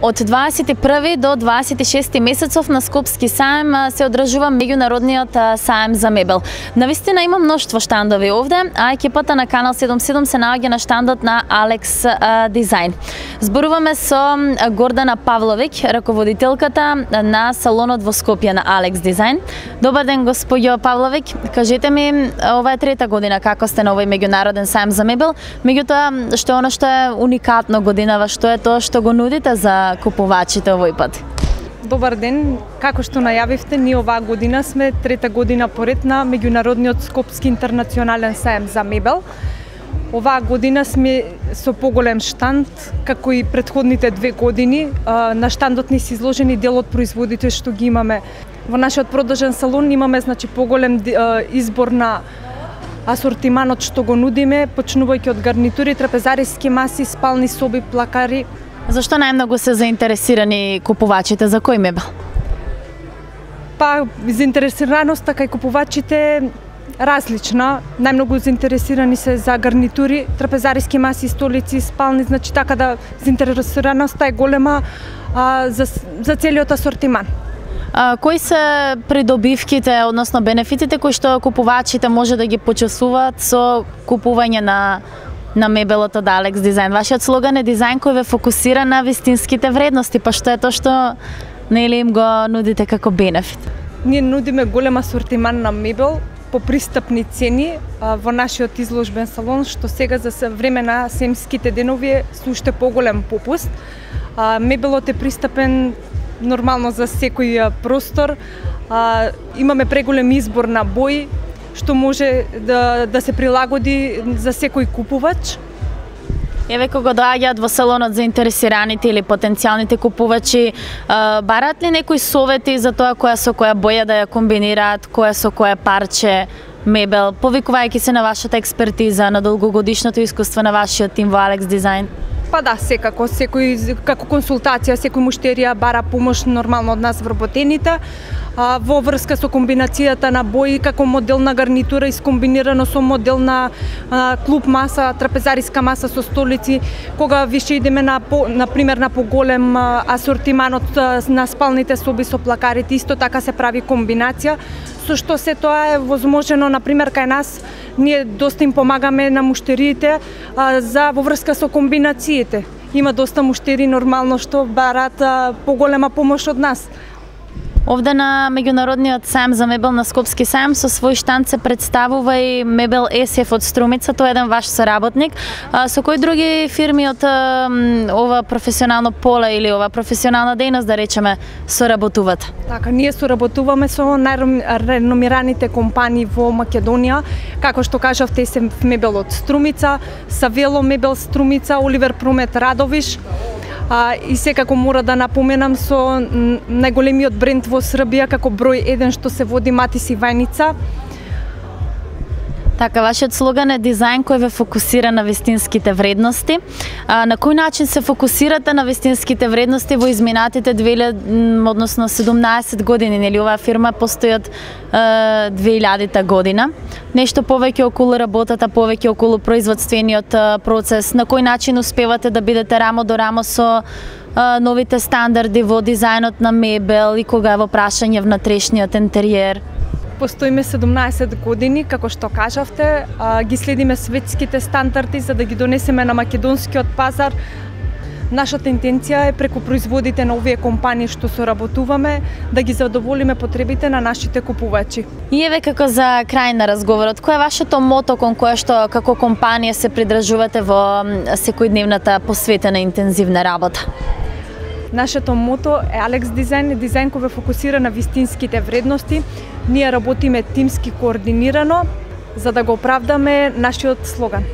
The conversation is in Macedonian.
Од 21 до 26 месецов на Скопски саем се одржува меѓународниот саем за мебел. Навистина има мноштво штандови овде, а екипата на Канал 77 се наоѓа на штандот на Алекс Дизајн. Зборуваме со Гордана Павловик, раководителката на салонот во Скопје на Алекс Дизајн. Добар ден, господјо Павловик. Кажете ми, ова е трета година како сте на овој меѓународен саем за мебел. Меѓутоа, што е она што е уникатно годинава, што е тоа што го нудите за купувачите овој пат? Добар ден, како што најавивте, ние оваа година сме трета година поред на меѓународниот Скопски интернационален саем за мебел. Оваа година сме со поголем штанд, како и претходните 2 години. На штандот ни се изложени дел од производите што ги имаме. Во нашиот продажен салон имаме поголем избор на асортиманот што го нудиме, почнувајќи од гарнитури, трапезариски маси, спални соби, плакари. Зашто најмногу се заинтересирани купувачите за кој мебел? Па, заинтересираноста кај купувачите е различна. Најмногу заинтересирани се за гарнитури, трапезариски маси, столици, спални, значи така да заинтересираноста е голема за целиот асортиман. Кои се придобивките, односно бенефитите кои што купувачите може да ги почувствуваат со купување на мебелот од Алекс Дизајн? Вашиот слоган е дизајн кој ве фокусира на вистинските вредности, па што е тоа што нели им го нудите како бенефит? Ние нудиме голем асортиман на мебел по пристапни цени во нашиот изложбен салон, што сега за време на семските денови е со уште поголем попуст. Мебелот е пристапен нормално за секој простор. Имаме преголем избор на бои, што може да се прилагоди за секој купувач. Еве кога доаѓаат во салонот заинтересираните или потенцијалните купувачи, бараат ли некои совети за тоа која со која боја да ја комбинираат, која со која парче мебел, повикувајќи се на вашата експертиза, на долгогодишното искуство на вашиот тим во Алекс Дизајн? Па да, секако, секој како консултација, секој муштерија бара помош нормално од нас вработените. Во врска со комбинацијата на бои, како модел на гарнитура искомбинирано со модел на клуб маса, трапезариска маса со столици, кога више идеме на пример на поголем асортиманот на спалните соби со плакарите, исто така се прави комбинација, со што се тоа е возможено, на пример кај нас, ние доста им помагаме на муштериите во врска со комбинациите. Има доста муштери нормално што бараат поголема помош од нас. Овде на меѓународниот саем за мебел на Скопски саем со свој штанд се представува и мебел СФ од Струмица, тој е еден ваш соработник. Со кои други фирми од ова професионално поле или ова професионална дејност, да речеме, соработуват? Така, ние соработуваме со најреномираните компании во Македонија, како што кажавте, СФ мебел од Струмица, Савело мебел Струмица, Оливер Промет Радовиш. И секако мора да напоменам со најголемиот бренд во Србија како број 1 што се води Матис Ивајница. Така, вашиот слоган е дизајн кој ве фокусира на вистинските вредности. На кој начин се фокусирате на вистинските вредности во изминатите 17 години? Нели оваа фирма постои од 2000 година. Нешто повеќе околу работата, повеќе околу производствениот процес. На кој начин успевате да бидете рамо до рамо со новите стандарди во дизајнот на мебел и кога е во прашање внатрешниот интериер? Постоиме 17 години, како што кажавте, ги следиме светските стандарди за да ги донесеме на македонскиот пазар. Нашата интенција е преку производите на овие компании што соработуваме да ги задоволиме потребите на нашите купувачи. И еве како за крај на разговорот, кој е вашето мото кон кое што како компанија се придржувате во секојдневната посветена интензивна работа? Нашето мото е Алекс Дизајн, дизајн кој ве фокусира на вистинските вредности. Ние работиме тимски координирано за да го оправдаме нашиот слоган.